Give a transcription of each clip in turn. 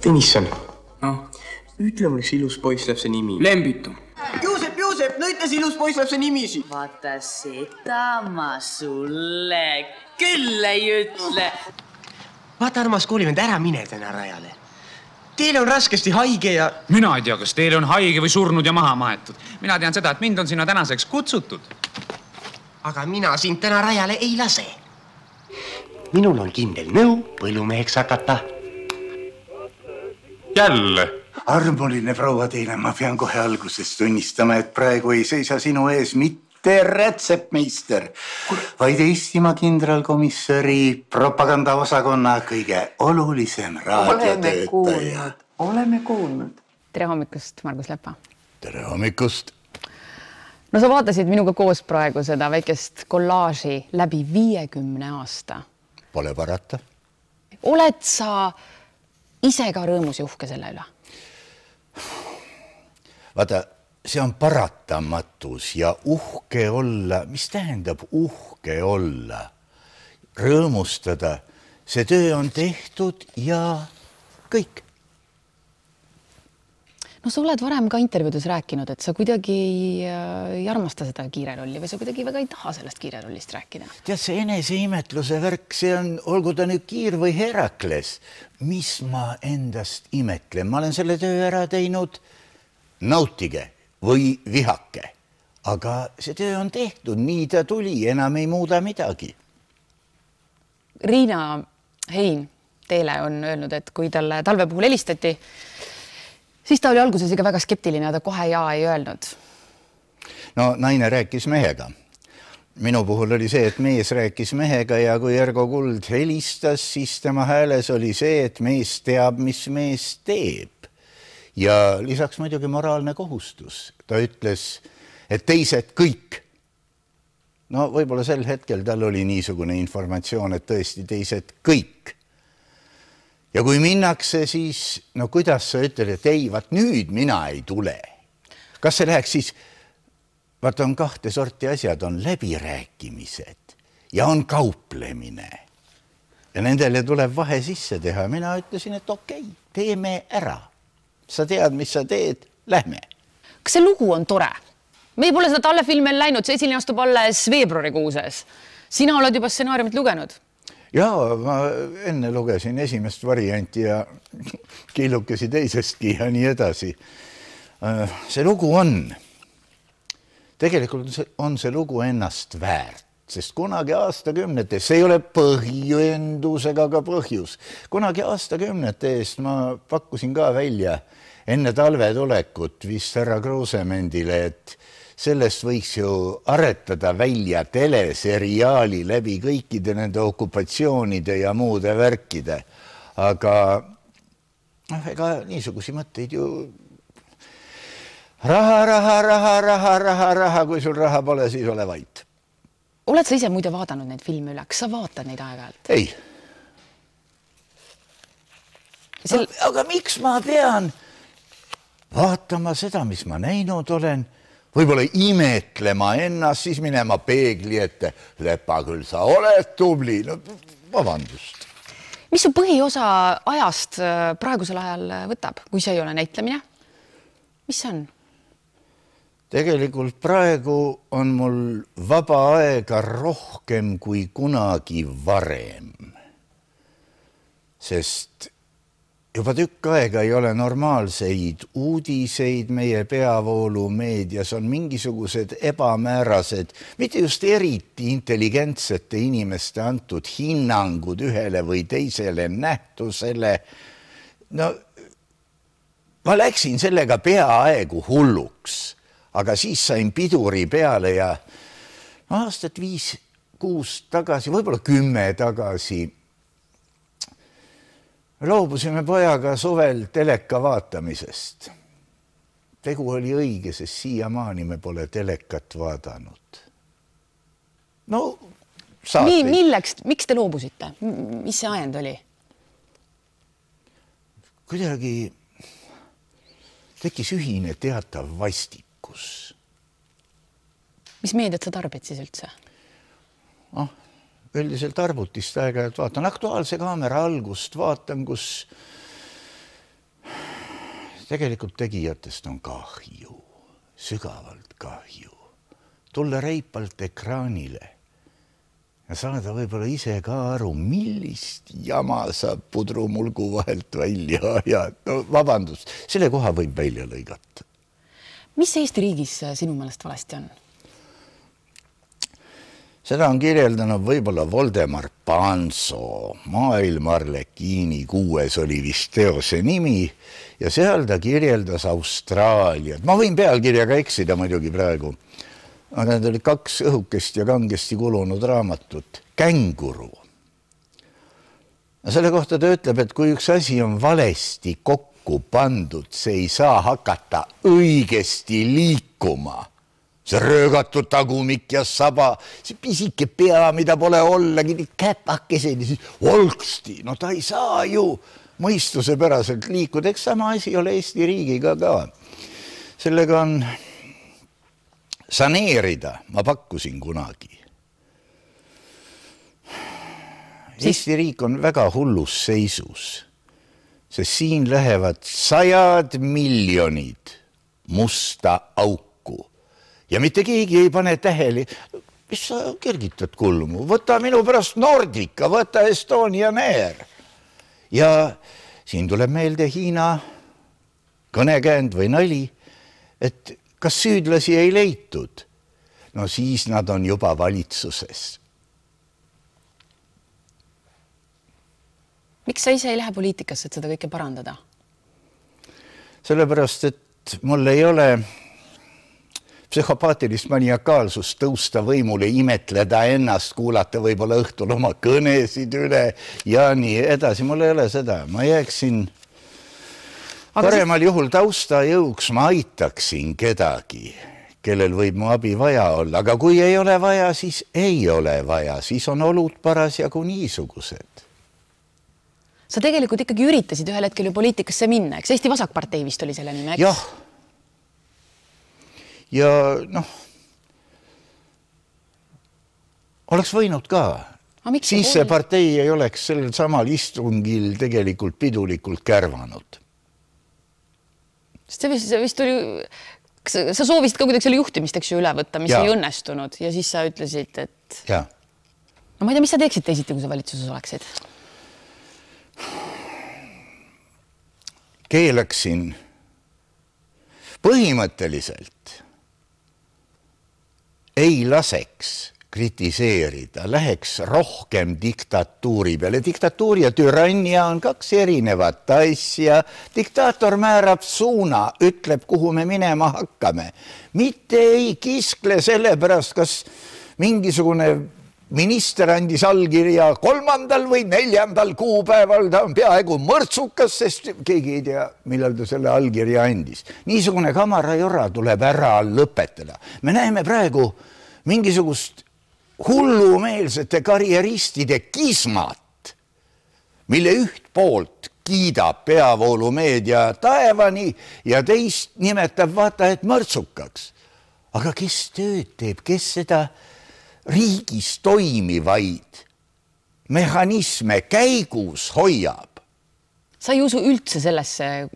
Tõnisson, ütle mulle, see ilus poisslapse nimi. Lembitu. Juusep, no ütles ilus poisslapse nimisi. Vaata seda ma sulle küll ei ütle. Vaata, armas koolivend, ära mine täna rajale. Teil on raskesti haige ja... Mina ei tea, kas teil on haige või surnud ja maha maetud. Mina tean seda, et mind on sinna tänaseks kutsutud. Aga mina sind täna rajale ei lase. Minul on kindel nõu põllumeheks hakata. Jälle? Armuline proua teile, ma pean kohe alguses tunnistama, et praegu ei seisa sinu ees mitte rätsepmeister, vaid Eestimaa kindralkomissari propagandaosakonna kõige olulisem raadiotöötaja. Oleme kuulnud. Tere hommikust, Margus Lepa. Tere hommikust. No sa vaatasid minuga koos praegu seda väikest kollaaži läbi 50 aasta. Pole parata. Oled sa ise ka rõõmus ja uhke selle üle? Vaata, see on paratamatus ja uhke olla. Mis tähendab uhke olla? Rõõmustada. See töö on tehtud ja kõik. No sa oled varem ka intervjuudes rääkinud, et sa kuidagi ei armasta seda kiirerolli või sa kuidagi väga ei taha sellest kiirerollist rääkida. Tead, see eneseimetluse värk, see on, olgu ta nüüd Kiir või Herakles, mis ma endast imetlen. Ma olen selle töö ära teinud, nautige või vihake. Aga see töö on tehtud, nii ta tuli, enam ei muuda midagi. Riina Hein teile on öelnud, et kui talle talve puhul helistati, siis ta oli alguses ikka väga skeptiline, ta kohe jaa ei öelnud. No naine rääkis mehega. Minu puhul oli see, et mees rääkis mehega ja kui Ergo Kuld helistas, siis tema hääles oli see, et mees teab, mis mees teeb. Ja lisaks muidugi moraalne kohustus. Ta ütles, et teised kõik. No võib-olla sel hetkel tal oli niisugune informatsioon, et tõesti teised kõik. Ja kui minnakse, siis, no kuidas sa ütled, et ei, vaat nüüd mina ei tule. Kas see läheks siis, vaat on kahte sorti asjad, on läbirääkimised ja on kauplemine. Ja nendele tuleb vahe sisse teha. Mina ütlesin, et okei, teeme ära. Sa tead, mis sa teed, lähme. Kas see lugu on tore? Me pole seda tallefilmi läinud, see esiline astub alles veebruarikuuses. Sina oled juba stsenaariumit lugenud? Jaa, ma enne lugesin esimest varianti ja killukesi teisestki ja nii edasi. See lugu on, tegelikult on see lugu ennast väärt, sest kunagi aastakümnetes, see ei ole põhjendus ega ka põhjus, kunagi aastakümnete eest ma pakkusin ka välja enne talve tulekut vist härra Kruusemendile, et sellest võiks ju aretada välja teleseriaali läbi kõikide nende okupatsioonide ja muude värkide. Aga ega niisugusi mõtteid ju raha, kui sul raha pole, siis ole vait. Oled sa ise muide vaadanud neid filme üle? Kas sa vaatad neid aeg-ajalt? Ei. Aga miks ma pean vaatama seda, mis ma näinud olen? Võib-olla imetlema ennast, siis minema peegli ette. Lepa, küll sa oled tubli. No, vabandust. Mis su põhiosa ajast praegusel ajal võtab, kui see ei ole näitlemine? Mis see on? Tegelikult praegu on mul vaba aega rohkem kui kunagi varem. Sest juba tükk aega ei ole normaalseid uudiseid meie peavoolumeedias, on mingisugused ebamäärased, mitte just eriti intelligentsete inimeste antud hinnangud ühele või teisele nähtusele. No, ma läksin sellega peaaegu hulluks, aga siis sain piduri peale ja aastat 5-6 tagasi, võib-olla 10 tagasi, loobusime pojaga suvel teleka vaatamisest. Tegu oli õige, sest siiamaani me pole telekat vaadanud. No, saateid. Miks te loobusite? Mis see ajend oli? Kuidagi tekkis ühine teatav vastikus. Mis meediat sa tarbid siis üldse? Üldiselt arvutist aeg-ajalt vaatan Aktuaalse kaamera algust, vaatan, kus tegelikult tegijatest on kahju, sügavalt kahju. Tulla reipalt ekraanile ja saada võib-olla ise ka aru, millist jama saab pudrumulgu vahelt välja ajada. No vabandust, selle koha võib välja lõigata. Mis Eesti riigis sinu meelest valesti on? Seda on kirjeldanud võib-olla Voldemar Panso, Maailmarlekiini 6 oli vist teose nimi ja seal ta kirjeldas Austraaliat. Ma võin pealkirjaga eksida muidugi praegu. Aga need oli 2 õhukest ja kangesti kulunud raamatut. Känguru. Selle kohta ta ütleb, et kui üks asi on valesti kokku pandud, see ei saa hakata õigesti liikuma. See röögatud tagumik ja saba, see pisike pea, mida pole ollagi, need käpakesed ja siis olksti. No ta ei saa ju mõistuse päraselt liikuda. Eks sama asi ole Eesti riigiga ka. Sellega on saneerida, ma pakkusin kunagi. Eesti riik on väga hullus seisus, sest siin lähevad 100 miljonid musta auku. Ja mitte keegi ei pane tähele, mis sa kergitad kulmu, võta minu pärast Nordica, võta Estonian Air. Ja siin tuleb meelde Hiina kõnekäänd või nali, et kas süüdlasi ei leitud? No siis nad on juba valitsuses. Miks sa ise ei lähe poliitikasse, et seda kõike parandada? Sellepärast, et mul ei ole psühhopaatilist maniakaalsust tõusta võimule, imetleda ennast, kuulata võib-olla õhtul oma kõnesid üle ja nii edasi. Mul ei ole seda. Ma jääksin paremal juhul tausta jõuks, ma aitaksin kedagi, kellel võib mu abi vaja olla. Aga kui ei ole vaja, siis ei ole vaja. Siis on olud parasjagu niisugused. Sa tegelikult ikkagi üritasid ühel hetkel ju poliitikasse minna, eks Eesti Vasakpartei vist oli selle nime, eks? Jah. Ja noh, oleks võinud ka. Siis see partei ei oleks sellel samal istungil tegelikult pidulikult kärvanud. See vist oli, sa soovisid ka kuidagi selle juhtimist, eks ju, üle võtta, mis ei õnnestunud ja siis sa ütlesid, et... Ja. No ma ei tea, mis sa teeksid teisiti, kui sa valitsuses oleksid? Keelaksin põhimõtteliselt ei laseks kritiseerida, läheks rohkem diktatuuri peale. Diktatuur ja türannia on 2 erinevat asja. Diktaator määrab suuna, ütleb, kuhu me minema hakkame. Mitte ei kiskle selle pärast, kas mingisugune minister andis allkirja 3. või 4. kuupäeval, ta on peaaegu mõrtsukas, sest keegi ei tea, millal ta selle allkirja andis. Niisugune kamarajora tuleb ära lõpetada. Me näeme praegu mingisugust hullumeelsete karjeristide kismat, mille üht poolt kiidab peavoolumeedia taevani ja teist nimetab vaata, et mõrtsukaks. Aga kes tööd teeb, kes seda riigis toimivaid mehhanisme käigus hoiab? Sa ei usu üldse sellesse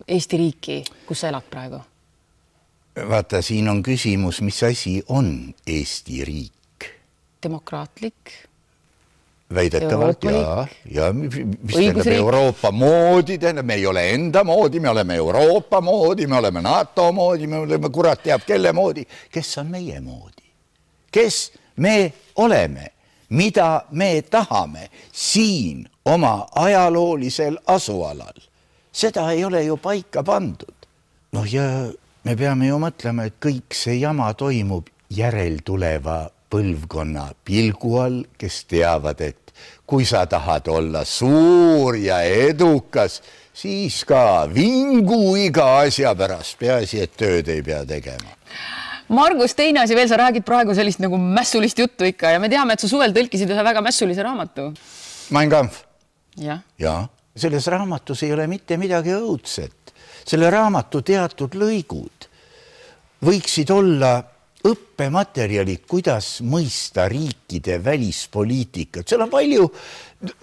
Eesti riiki, kus sa elad praegu? Vaata, siin on küsimus, mis asi on Eesti riik? Demokraatlik? Väidetavalt, ja mis tähendab Euroopa moodi, me ei ole enda moodi, me oleme Euroopa moodi, me oleme NATO moodi, me oleme kurat teab kelle moodi. Kes on meie moodi? Kes me oleme? Mida me tahame siin oma ajaloolisel asualal? Seda ei ole ju paika pandud. Noh, ja me peame ju mõtlema, et kõik see jama toimub järeltuleva põlvkonna pilgu all, kes teavad, et kui sa tahad olla suur ja edukas, siis ka vingu iga asja pärast, peaasi, et tööd ei pea tegema. Margus, teine asi veel, sa räägid praegu sellist nagu mässulist juttu ikka ja me teame, et sa suvel tõlkisid ühe väga mässulise raamatu. Mein Kampf. Ja. Selles raamatus ei ole mitte midagi õudset. Selle raamatu teatud lõigud võiksid olla õppematerjalid, kuidas mõista riikide välispoliitikat. Seal on palju,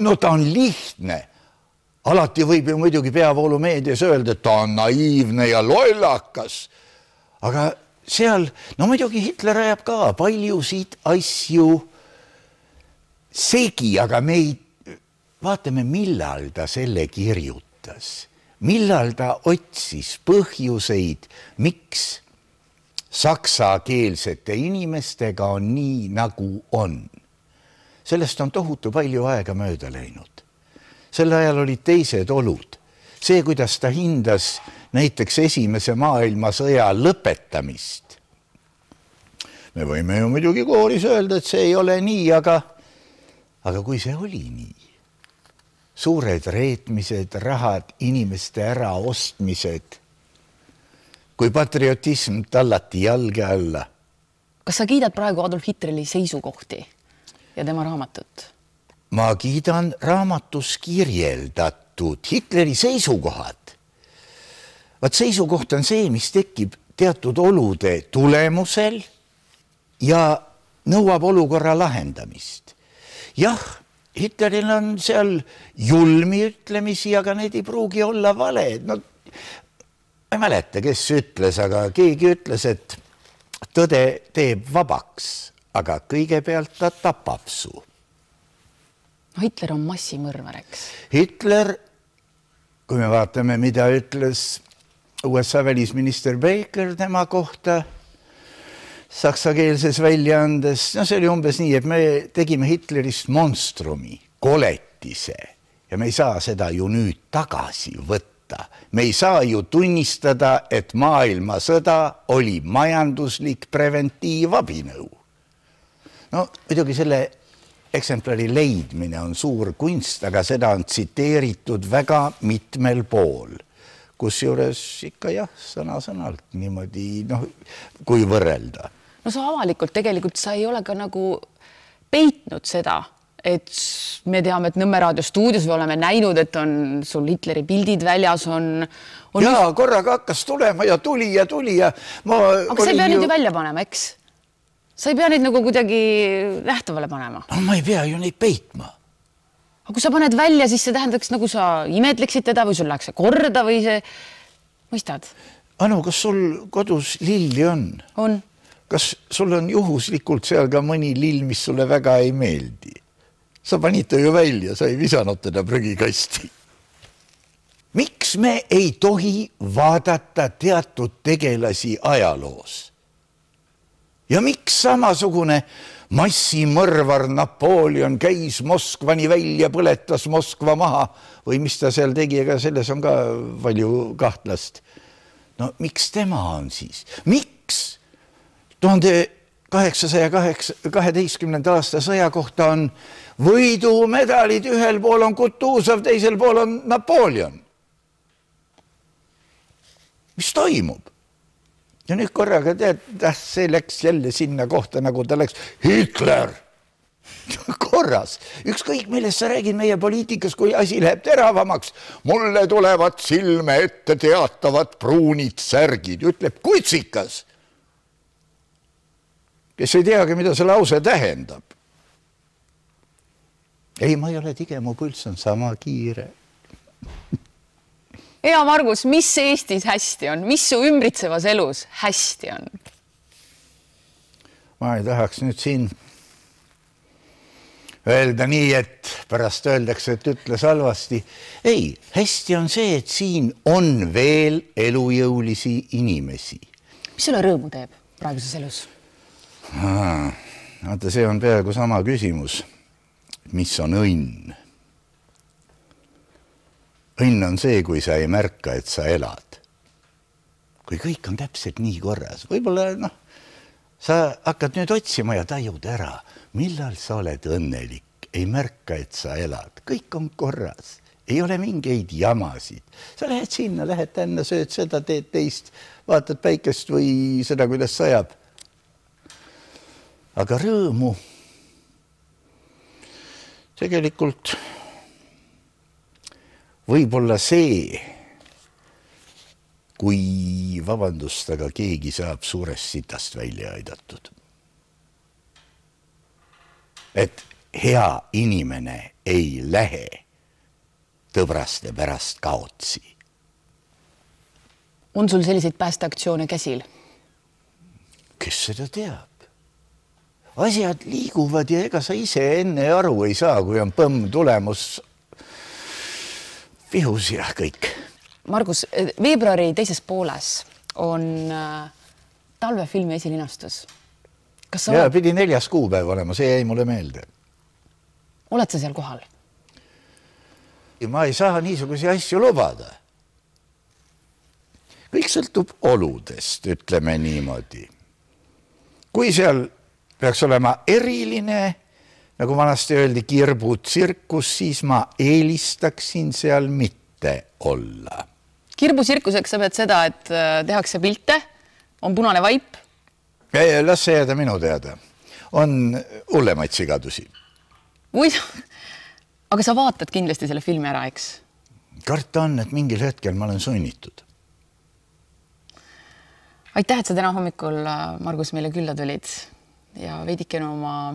no ta on lihtne, Alati võib ju muidugi peavoolumeedias öelda, et ta on naiivne ja lollakas. Aga seal, no muidugi Hitler ajab ka paljusid asju segi, aga me ei vaatame, millal ta selle kirjutas. Millal ta otsis põhjuseid, miks saksakeelsete inimestega on nii, nagu on. Sellest on tohutu palju aega mööda läinud. Sel ajal olid teised olud. See, kuidas ta hindas näiteks Esimese maailmasõja lõpetamist. Me võime ju muidugi kooris öelda, et see ei ole nii, aga kui see oli nii, suured reetmised, rahad, inimeste äraostmised, kui patriotism tallati jalge alla. Kas sa kiidad praegu Adolf Hitleri seisukohti ja tema raamatut? Ma kiidan raamatus kirjeldatud Hitleri seisukohad. Vaat seisukoht on see, mis tekib teatud olude tulemusel ja nõuab olukorra lahendamist. Jah, Hitleril on seal julmi ütlemisi, aga need ei pruugi olla valed. No, ma ei mäleta, kes ütles, aga keegi ütles, et tõde teeb vabaks, aga kõigepealt ta tapab su. No, Hitler on massimõrvar, eks? Hitler, kui me vaatame, mida ütles USA välisminister Baker tema kohta saksakeelses väljaandes, no see oli umbes nii, et me tegime Hitlerist monstrumi, koletise ja me ei saa seda ju nüüd tagasi võtta. Me ei saa ju tunnistada, et maailmasõda oli majanduslik preventiivabinõu. No, muidugi selle eksemplari leidmine on suur kunst, aga seda on tsiteeritud väga mitmel pool. Kusjuures ikka jah, sõna-sõnalt niimoodi, kui võrrelda. No sa avalikult tegelikult sa ei ole ka nagu peitnud seda, et me teame, et Nõmme raadio stuudios me oleme näinud, et on sul Hitleri pildid väljas on... Jaa, korraga hakkas tulema ja tuli ja... Aga sa ei pea neid ju välja panema, eks? Sa ei pea neid nagu kuidagi nähtavale panema. No, ma ei pea ju neid peitma. Aga kui sa paned välja, siis see tähendaks, nagu sa imetleksid teda või sul läheks see korda või see... Mõistad? Anu, kas sul kodus lilli on? On. Kas sul on juhuslikult seal ka mõni lill, mis sulle väga ei meeldi? Sa panid ta ju välja, sa ei visanud teda prügikasti. Miks me ei tohi vaadata teatud tegelasi ajaloos? Ja miks samasugune massimõrvar Napoleon käis Moskvani välja, põletas Moskva maha või mis ta seal tegi, ega selles on ka palju kahtlast. No miks tema on siis? Miks 1812. aasta sõja kohta on võidumedalid, ühel pool on Kutuzov, teisel pool on Napoleon? Mis toimub? Ja nüüd korraga see läks jälle sinna kohta, nagu ta läks Hitler. Korras. Ükskõik, millest sa räägid meie poliitikas, kui asi läheb teravamaks. Mulle tulevad silme ette teatavad pruunid särgid, ütleb kutsikas, kes ei teagi, mida see lause tähendab. Ei, ma ei ole tige, mu pulss on sama kiire. Hea Margus, mis Eestis hästi on? Mis su ümbritsevas elus hästi on? Ma ei tahaks nüüd siin öelda nii, et pärast öeldakse, et ütles halvasti. Ei, hästi on see, et siin on veel elujõulisi inimesi. Mis sulle rõõmu teeb praeguses elus? Vaata, see on peaaegu sama küsimus. Mis on õnn? Õnn on see, kui sa ei märka, et sa elad. Kui kõik on täpselt nii korras. Võib-olla, sa hakkad nüüd otsima ja tajud ära, millal sa oled õnnelik. Ei märka, et sa elad. Kõik on korras. Ei ole mingeid jamasid. Sa lähed sinna, lähed tänna, sööd seda, teed teist, vaatad päikest või seda, kuidas sajab. Aga rõõmu tegelikult võib-olla see, kui vabandust, aga keegi saab suurest sitast välja aidatud. Et hea inimene ei lähe tõbraste pärast kaotsi. On sul selliseid päästeaktsioone käsil? Kes seda teab? Asjad liiguvad ja ega sa ise enne aru ei saa, kui on põmm tulemus vihus ja kõik. Margus, veebruari teises pooles on talvefilmi esilinastus. Kas sa pidi 4. kuupäev olema, see jäi mulle meelde. Oled sa seal kohal? Ma ei saa niisuguse asju lubada. Kõik sõltub oludest, ütleme niimoodi. Kui seal peaks olema eriline, nagu vanasti öeldi, kirbutsirkus, siis ma eelistaksin seal mitte olla. Kirbutsirkuseks sa pead seda, et tehakse pilte, on punane vaip. Las see jääda minu teada. On hullemaid sigadusi. Aga sa vaatad kindlasti selle filmi ära, eks? Karta on, et mingil hetkel ma olen sunnitud. Aitäh, et sa täna hommikul, Margus, meile külla tulid ja veidikene oma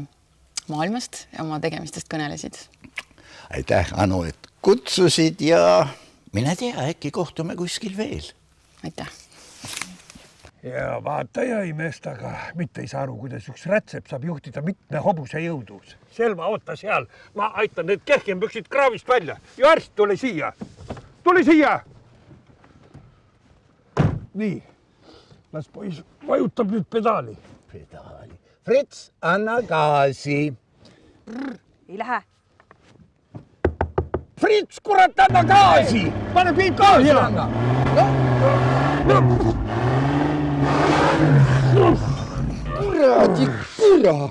maailmast ja oma tegemistest kõnelesid. Aitäh, Anu, et kutsusid ja mine tea, äkki kohtume kuskil veel. Aitäh. Ja vaataja imestaga mitte ei saa aru, kuidas üks rätsep saab juhtida mitme hobuse jõudus. Selma, oota seal. Ma aitan need kehkempüksid kraavist välja. Ja arst, tule siia. Tule siia! Nii. Las pois vajutab nüüd pedaali. Pedaali. Fritz, anna gaasi. Ei lähe. Fritz, kurat, anna gaasi! Pane piip gaasi anna! Kuradi, kurat!